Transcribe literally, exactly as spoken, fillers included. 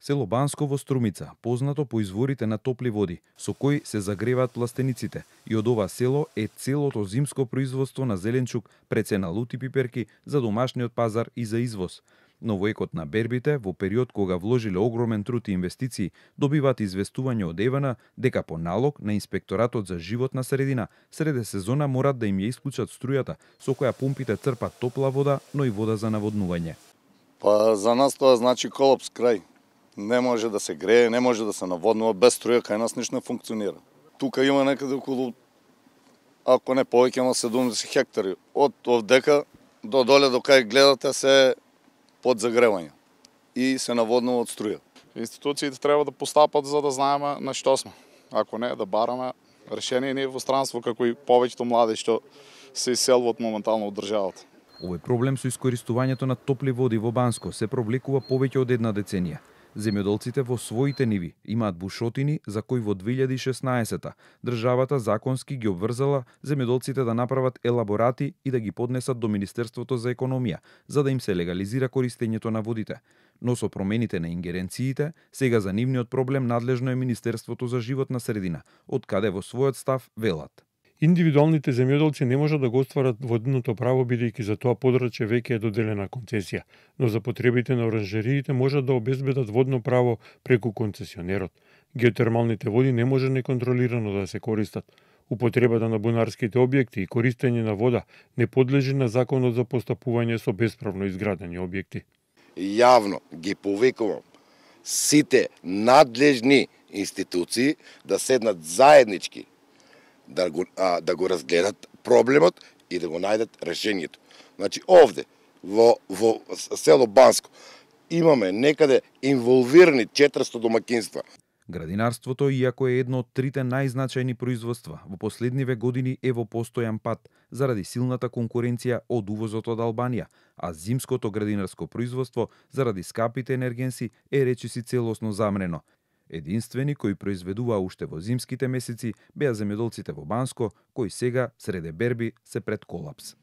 Село Банско во Струмица, познато по изворите на топли води, со кои се загреваат пластениците, и од ова село е целото зимско производство на зеленчук, прецена лути пиперки за домашниот пазар и за извоз. Но во екот на бербите, во период кога вложиле огромен труд и инвестиции, добиваат известување од ЕВН дека по налог на Инспекторатот за животна средина среде сезона морат да им ја исклучат струјата со која помпите црпат топла вода, но и вода за наводнување. Па за нас тоа значи колапс крај. Не може да се грее, не може да се наводнува без струја, кај нас ништо не функционира. Тука има некаде околу, ако не повеќе на седумдесет хектари. Од овдека до доле до кај гледате се под загревање и се наводнува од струја. Институциите треба да постапат за да знаеме на што сме. Ако не, да бараме решение ние во странство, како и повеќето млади што се иселваат моментално од државата. Овој проблем со искористувањето на топли води во Банско се провлекува повеќе од една деценија. Земјоделците во своите ниви имаат бушотини за кои во две илјади и шеснаесета државата законски ги обврзала земјоделците да направат елаборати и да ги поднесат до Министерството за економија, за да им се легализира користењето на водите. Но со промените на ингеренциите, сега за нивниот проблем надлежно е Министерството за животна средина, од каде во својот став велат. Индивидуалните земјоделци не можат да го остварат водното право бидејќи за тоа подрачје веќе е доделена концесија, но за потребите на оранжериите можат да обезбедат водно право преку концесионерот. Геотермалните води не може неконтролирано да се користат. Употребата на бунарските објекти и користење на вода не подлежи на законот за постапување со бесправно изградени објекти. Јавно ги повикувам сите надлежни институции да седнат заеднички да го, а, да го разгледат проблемот и да го најдат решението. Значи, овде, во, во село Банско, имаме некаде инволвирани четиристо домакинства. Градинарството, иако е едно од трите најзначајни производства, во последниве години е во постојан пат заради силната конкуренција од увозот од Албанија, а зимското градинарско производство заради скапите енергенси е речиси целосно замрено. Единствени кои произведуваа уште во зимските месеци беа земјоделците во Банско, кои сега, среде берби, се пред колапс.